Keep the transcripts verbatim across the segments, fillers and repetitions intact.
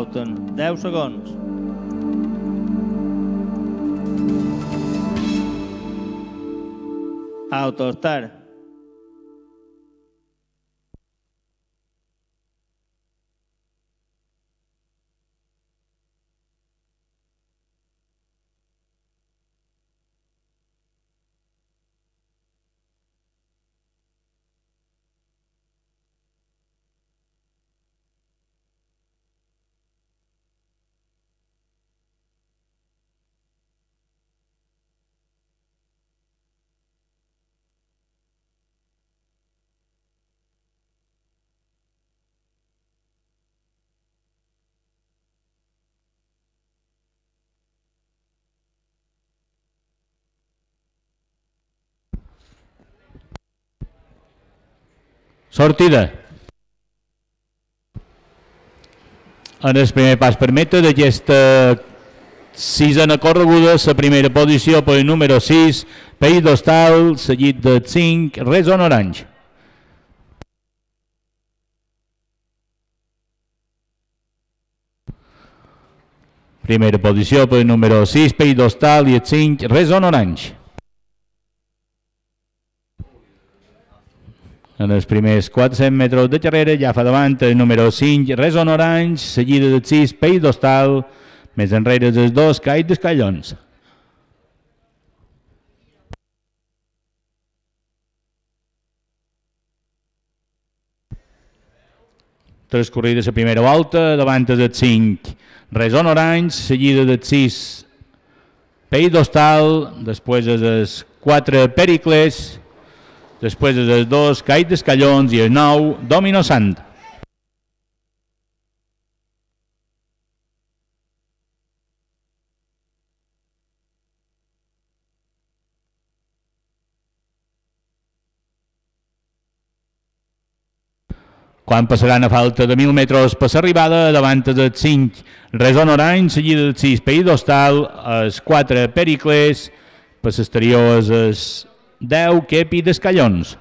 Falten deu segons. Autostar. Sortida. En el primer pas per meta d'aquesta sisena correguda, la primera posició per el número sis, País d'Hostal, seguit de cinc, Reson Orange. Primera posició per el número sis, País d'Hostal, i el cinc, Reson Orange. En els primers quatre-cents metres de carrera ja fa davant el número cinc, Reson Orange, seguida del sis, País d'Hostal, més enrere dels dos, Call d'Escallons. Transcorrida la primera volta, davant del cinc, Reson Orange, seguida del sis, País d'Hostal, després els quatre, Pericles, després dels dos, Call d'Escallons, i el nou, Domino Sant. Quan passaran a falta de mil metres per l'arribada, davant del cinc, Reson Orange, seguida del sis, País d'Hostal, els quatre, Pericles, per l'exterior els deu, Kepi d'Escallons.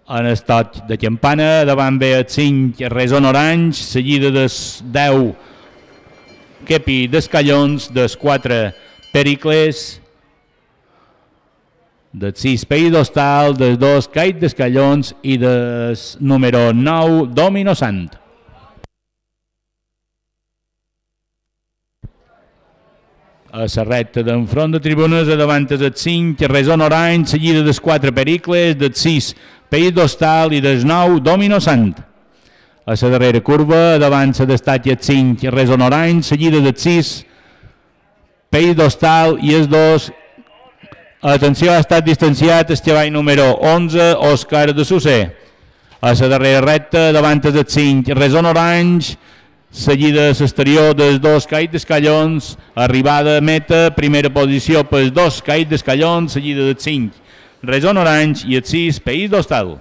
En el toc de campana, davant ve el cinc, Reson Orange, seguida dels deu, Kepi d'Escallons, dels quatre, Pericles, del sis, País d'Hostal, dels dos, Call d'Escallons, i del número nou, Domino Sant. A la recta d'enfront de tribunes, davant del cinc, Reson Orange, seguida dels quatre, Pericles, del sis, País d'Hostal, i del nou, Domino Sant. A la darrera curva, davant se destaca el cinc, Reson Orange, seguida del sis, País d'Hostal, i els dos, atenció, ha estat distanciat el cavall número onze, Òscar de Susser. A la darrera recta, davant del cinc, Reson Orange, seguida a l'exterior dels dos, Call d'Escallons, arribada a meta, primera posició pels dos, Call d'Escallons, seguida del cinc, Reson Orange, i el sis, País d'Hostal.